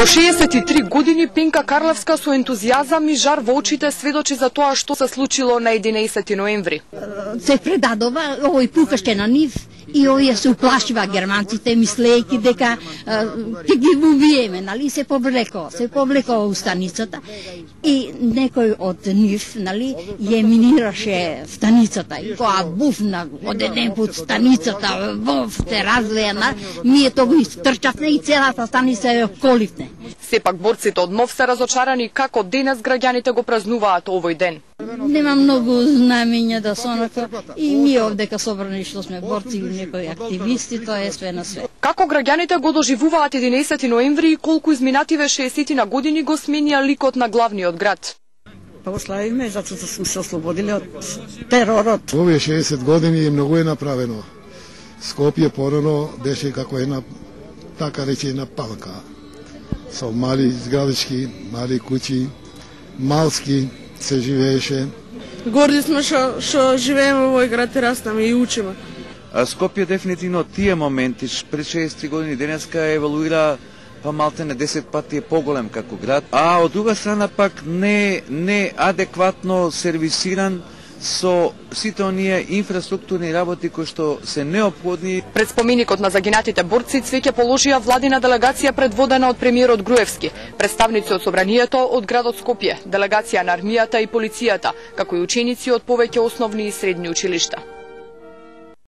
Во 63 години Пенка Карлевска со ентузијазам и жар во очите сведочи за тоа што се случило на 11 ноември. Се предадова, овој пукаше на нив и овие се уплашива германците, мислејќи дека ќе ги убиеме, нали, се повлеко у станицата и некој од нив, нали, ја минираше станицата и кога буфна од еден пут станицата, те разлеена, ние тоа истрчавме и целата станица ја коливне. Сепак борците од НОВ се разочарани како денес граѓаните го празнуваат овој ден. Нема многу знамења да се онака и ние овдека собрани што сме борци или некои активисти, тоа е све на све. Како граѓаните го доживуваат 11 ноември и колку изминативе 60 на години го сменија ликот на главниот град? Па го славиме затоа што сме се ослободиле од теророт. Овие 60 години многу е направено. Скопје порано беше како една, така речена, палка. Со мали зградички, мали куќи, малски се живееше. Горди сме што живееме во овој град и растаме и учиме. Скопје дефинитивно тие моменти пред 60 години денеска еволуира па малтене 10 пати е поголем како град, а од друга страна пак не адекватно сервисиран со сите оние инфраструктурни работи кои што се неопходни. Пред споменикот на загинатите борци цвеќе положија владина делегација предводена од премиерот Груевски, представници од собранието од градот Скопје, делегација на армијата и полицијата, како и ученици од повеќе основни и средни училишта.